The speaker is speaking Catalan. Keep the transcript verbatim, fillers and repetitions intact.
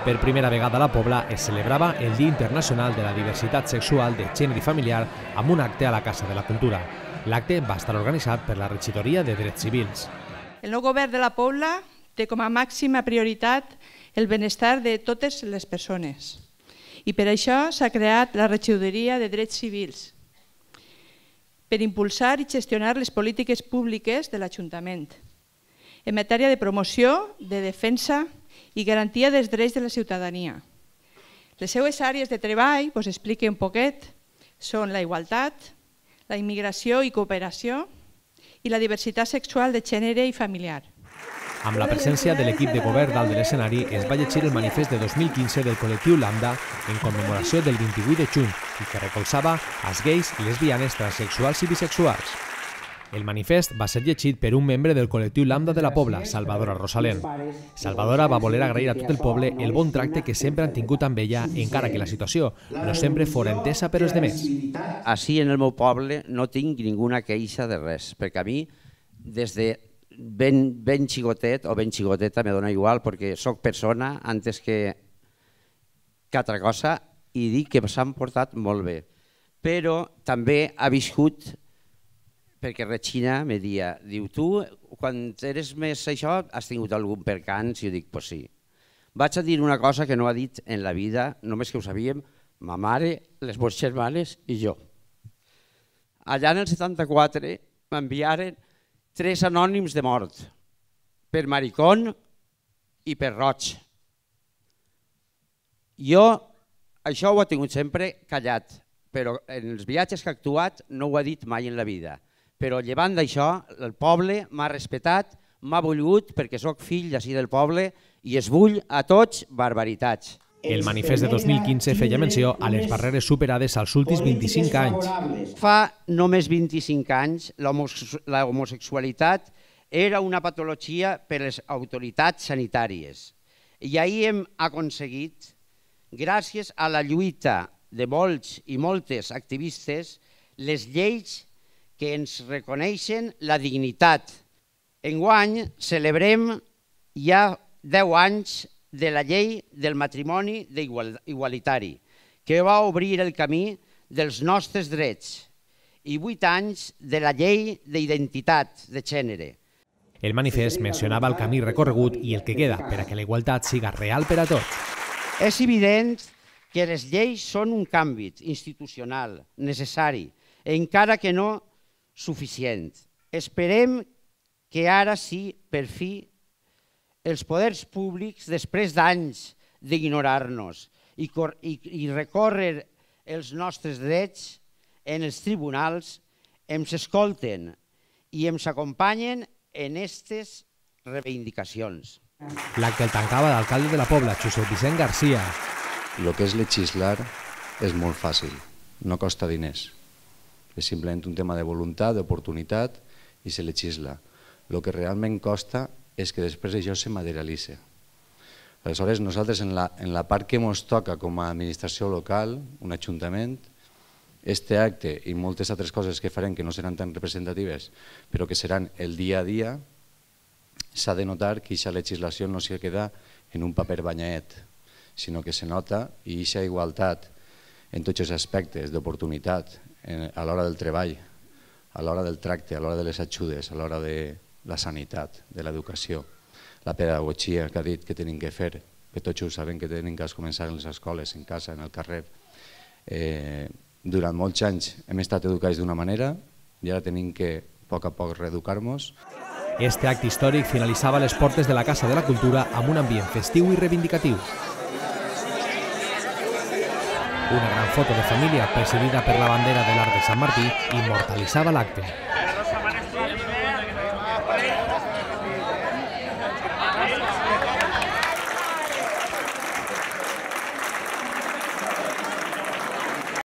Per primera vegada a la Pobla es celebrava el Dia Internacional de la Diversitat Sexual de Gènere i Familiar amb un acte a la Casa de la Cultura. L'acte va estar organitzat per la Regidoria de Drets Civils. El nou govern de la Pobla té com a màxima prioritat el benestar de totes les persones i per això s'ha creat la Regidoria de Drets Civils per impulsar i gestionar les polítiques públiques de l'Ajuntament en matèria de promoció, de defensa i garantia dels drets de la ciutadania. Les seues àrees de treball, us explico un poquet, són la igualtat, la immigració i cooperació i la diversitat sexual de gènere i familiar. Amb la presència de l'equip de govern dalt de l'escenari es va llegir el manifest de dos mil quinze del col·lectiu Lambda en commemoració del vint-i-vuit de juny i que recolzava als gais i lesbianes, transsexuals i bisexuals. El manifest va ser llegit per un membre del col·lectiu Lambda de la Pobla, Salvadora Rosalén. Salvadora va voler agrair a tot el poble el bon tracte que sempre han tingut amb ella, encara que la situació no sempre fora entesa per els demés. Així en el meu poble no tinc ninguna queixa de res, perquè a mi des de ben, ben xicotet o ben xicoteta me dona igual perquè sóc persona antes que, que altra cosa i dic que s'han portat molt bé. Però també ha viscut, perquè Regina me dia, diu, tu quan eres més això has tingut algun percanç? I jo dic, pues sí. Vaig a dir una cosa que no ha dit en la vida, només que ho sabíem, ma mare, les meves germanes i jo. Allà en el setanta-quatre m'enviaren tres anònims de mort, per maricón i per roig. Jo això ho he tingut sempre callat, però en els viatges que he actuat no ho he dit mai en la vida. Però llevant d'això, el poble m'ha respectat, m'ha volgut perquè sóc fill d'ací del poble i es vull a tots barbaritats. El manifest de dos mil quinze feia menció a les barreres superades als últims vint-i-cinc anys. Fa només vint-i-cinc anys la homosexualitat era una patologia per les autoritats sanitàries i ahir hem aconseguit, gràcies a la lluita de molts i moltes activistes, les lleis que ens reconeixen la dignitat. Enguany celebrem ja deu anys de la llei del matrimoni igualitari, que va obrir el camí dels nostres drets, i vuit anys de la llei d'identitat de gènere. El manifest mencionava el camí recorregut i el que queda per a que la igualtat siga real per a tots. És evident que les lleis són un canvi institucional necessari, encara que no suficient. Esperem que ara sí, per fi, els poders públics, després d'anys d'ignorar-nos i, i, i recórrer els nostres drets en els tribunals, ens escolten i ens acompanyen en aquestes reivindicacions. L'acte el tancava l'alcalde de la Pobla, Josep Vicent Garcia. El que és legislar és molt fàcil, no costa diners. És simplement un tema de voluntat, d'oportunitat i se legisla. El que realment costa és que després això se materialitza. Aleshores, nosaltres en la, en la part que ens toca com a administració local, un ajuntament, este acte i moltes altres coses que farem que no seran tan representatives, però que seran el dia a dia, s'ha de notar que aquesta legislació no se queda en un paper banyaet, sinó que se nota i aquesta igualtat en tots els aspectes d'oportunitat, a l'hora del treball, a l'hora del tracte, a l'hora de les ajudes, a l'hora de la sanitat, de l'educació, la pedagogia que ha dit que tenim que fer, que tots ho sabem que tenim que començar en les escoles, en casa, en el carrer. Eh, durant molts anys hem estat educats d'una manera i ara tenim que, a poc a poc, reeducar-nos. Este acte històric finalitzava les portes de la Casa de la Cultura amb un ambient festiu i reivindicatiu. Una gran foto de família presidida per la bandera de l'Arc de Sant Martí immortalitzava l'acte.